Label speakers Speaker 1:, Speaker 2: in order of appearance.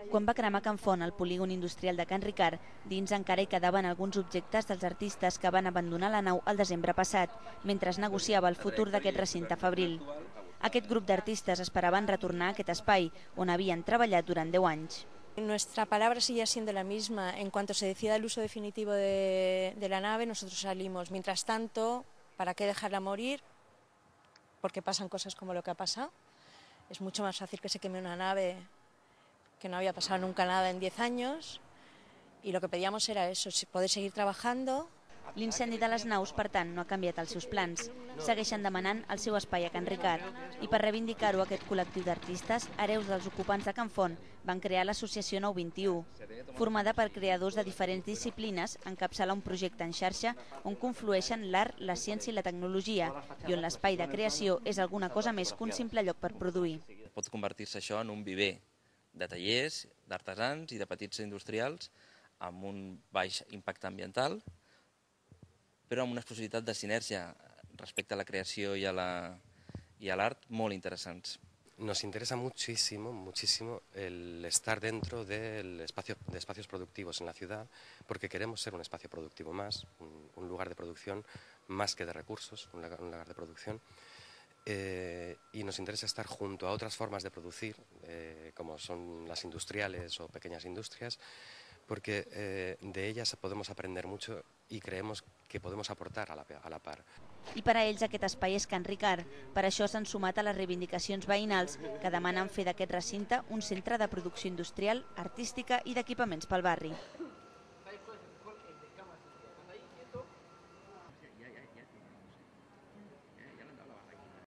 Speaker 1: Quan va cremar Can Font al polígon industrial de Can Ricard, dins encara hi quedaven alguns objectes dels artistes que van abandonar la nau el desembre passat, mentre es negociava el futur d'aquest recinte fabril. Aquest grup d'artistes esperaven retornar a aquest espai, on havien treballat durant 10 anys.
Speaker 2: Nuestra palabra sigue siendo la misma. En cuanto se decida el uso definitivo de la nave, nosotros salimos. Mientras tanto, ¿para qué dejarla morir? Porque pasan cosas como lo que ha pasado. Es mucho más fácil que se queme una nave que no había pasado nunca nada en 10 años. Y lo que pedíamos era eso, poder seguir trabajando.
Speaker 1: L'incendi de les naus, per tant, no ha canviat els seus plans. Segueixen demanant el seu espai a Can Ricard. I per reivindicar-ho, aquest col·lectiu d'artistes, hereus dels ocupants de Can Font, van crear l'associació 921. Formada per creadors de diferents disciplines, encapçala un projecte en xarxa on conflueixen l'art, la ciència i la tecnologia, i on l'espai de creació és alguna cosa més que un simple lloc per produir.
Speaker 3: Pot convertir-se això en un viver de tallers, d'artesans i de petits industrials amb un baix impacte ambiental, però amb unes possibilitats de sinergia respecte a la creació y al art molt interessants.
Speaker 4: Nos interesa muchísimo el estar dentro de espacios productivos en la ciudad, porque queremos ser un espacio productivo más, un lugar de producción más que de recursos, un lugar de producción. Y nos interesa estar junto a otras formas de producir, como son las industriales o pequeñas industrias, porque de ellas podemos aprender mucho y creemos que podemos aportar a la par.
Speaker 1: I per a ells aquest espai és Can Ricard. Per això s'han sumat a les reivindicacions veïnals que demanen fer d'aquest recinte un centre de producció industrial, artística i d'equipaments pel barri.